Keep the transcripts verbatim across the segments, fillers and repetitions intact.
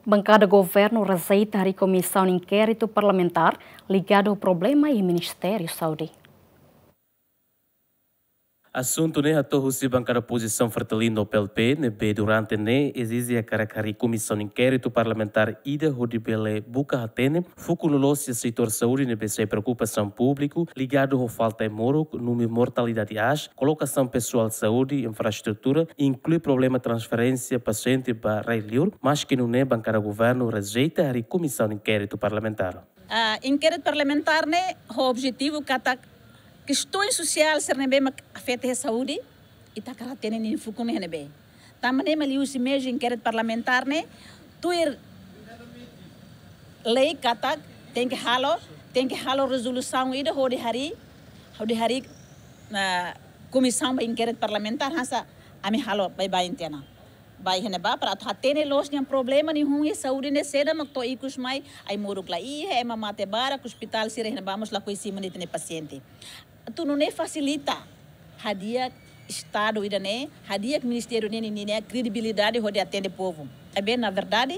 Bankada governu rejeita harii komisaun inkéritu parlamentár ligadu ho problema iha Ministériu Saúde. Asuntu ne'e hato'o husi bankada opozisaun Fretilin no P L P, ne'ebé durante ne'e ezije hakarak harii komisaun inkéritu parlamentár ida hodi bele buka hatene fuuk loloos iha setór saúde ne'ebé sai preokupasaun públiku, ligadu ho falta ai-moruk, númeru mortalidade aas, kolokasaun pesoál saúde, infraestrutura, inklui problema transferénsia pasiente ba rai-liur, maski nune'e bankada governu rejeita harii komisaun inkéritu parlamentár. Ah, inkéritu parlamentár ne'e ho objetivu katak kestaun sosiál sira ne'ebé mak afeta iha saúde, ita hakarak hatene ninia fuuk ne'e iha ne'ebé. Tanba ne'e mak liuhusi meius inkéritu parlamentár ne'e tuir lei katak tenke halo, tenke halo rezolusaun ida hodi harii, hodi harii, ah, komisaun ba inkéritu parlamentár, hanesan ami halo baibain tiha ona. Ba iha ne'ebá para atu hatene loos ninia problema nihun iha saúde ne'e saida mak to'o ikus mai ai-moruk la iha, ema mate barak, ospitál sira iha ne'ebá mós lakohi simu ita-nia pasiente. Atu nune'e fasilita hadi'a Estadu ida-ne'e, hadi'a ministériu ne'e ninia kredibilidade hodi atende povu. Maibé na verdade,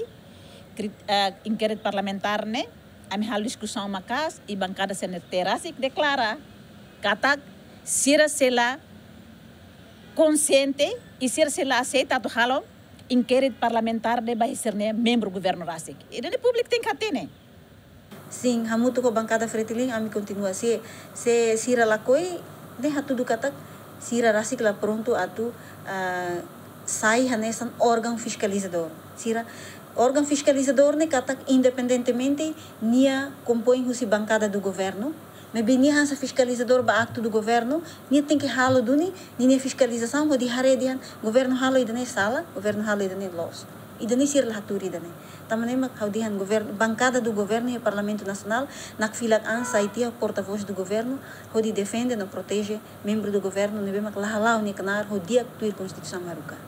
kri-, eh, inkéritu parlamentár ne'e, ami halo diskusaun maka'as, i bankada C N R T rasik deklara katak sira sei la konsiente i sira sei la aseita atu halo inkéritu parlamentár ne'e ba sira-nia membru governu rasik. Ida-ne'e públiku tenke hatene. Sin, hamutuk ho bankada Fretilin, ami kontinua. Se, se sira lakohi, ne'e hatudu katak sira rasik la prontu atu, ah, sai hanesan órgaun fiskalizadór. Sira, órgaun fiskalizadór ne'e katak independentemente nia kompoin husi bankada do governu, maibé nia hanesan fiskalizadór ba aktu do governu, nia tenke halo duni ninia fiskalizasaun hodi haree dehan governu halo ida-ne'e sala, governu halo ida-ne'e loos. Ida-ne'e sira la hatuur ida-ne'e. Tanba ne'e mak ha'u dehan governu, bankada do governu iha Parlamentu Nasionál nakfilak an sai tiha portavós do governu hodi defende no proteje membru do governu ne'ebé mak la hala'o nia knaar ho di'ak tuir Konstituisaun haruka.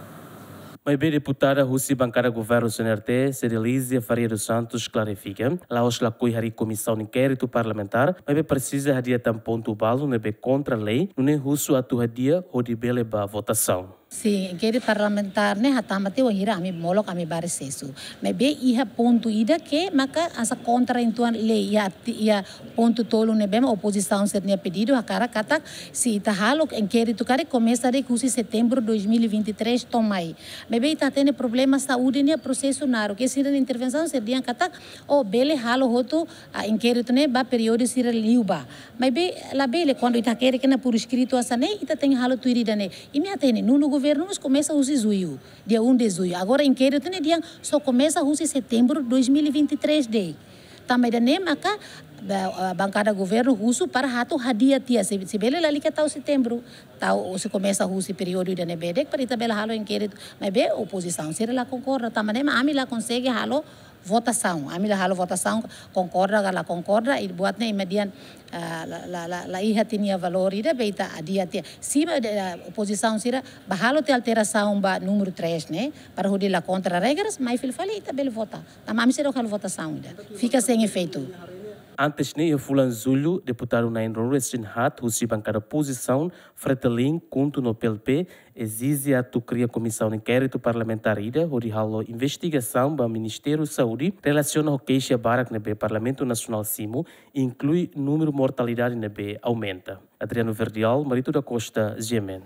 Maibé deputada husi bankada governu C N R T, Cedelizia Faria dos Santos, klarifika, la'ós lakohi harii komisaun inkéritu parlamentár, maibé presiza hadi'a tan pontu balu ne'ebé kontra lei, nune'e husu atu hadi'a hodi bele ba votasaun. Sin, inkéritu parlamentár ne'e hatama tiha wainhira ami molok ami ba resesu. Maibé iha pontu ida ke maka hanesan kontra uitoan lei, iha arti-, iha pontu tolu ne'ebé mak opozisaun sira-nia pedidu hakarak katak se ita halo inkéritu karik komesa de'it husi setembru dois mil e vinte e três to'o mai. Maibé ita hatene problema saúde ne'e prosesu naruk. Ke sira-nia intervensaun sira dehan katak, oh, bele halo hotu, ah, inkéritu ne'e ba períodu sira liubá. Maibé labele, kuandu ita hakerek ona por escrito hanesan ne'e, ita tenke halo tuir ida-ne'e. Imi hatene, nonu governu mós komesa husi jullu, dia um de julho. Agora inkéritu ne'e dehan só komesa husi setembru dois mil e vinte e três de'it. Tanba ida-ne'e maka ba-, ah, bankada governu husu para atu hadi'a tiha, se, se bele lalika tau setembru, tau, se komesa husi períodu ida-ne'ebé de'it para ita bele halo inkéritu. Maibé opozisaun sira la konkorda, tanba ne'e mak ami la konsege halo votasaun. Ami la halo votasaun, konkorda ka la konkorda, i buat ne'e imi dehan, ah, la, la, la, la iha tiha nia valór ida, be ita hadi'a tiha. Se mak, ah, opozisaun sira bá halo tiha alterasaun ba númeru três ne'e, para hodi la kontra regras, mai fila fali ita bele vota. Tanba ami seidauk halo votasaun ida. Fika sein efeitu. Antes ne'e, iha fulan jullu, deputadu na'in ruanulu-resin-haat husi bankada opozisaun, Fretilin, KHUNTO no P L P, ezije atu kria komisaun inkéritu parlamentár ida hodi halo investigasaun ba Ministériu Saúde relasiona ho keixa barak ne'ebé Parlamentu Nasionál simu, inklui númeru mortalidade ne'ebé aumenta. Adriano Verdial, Marito da Costa, G M N.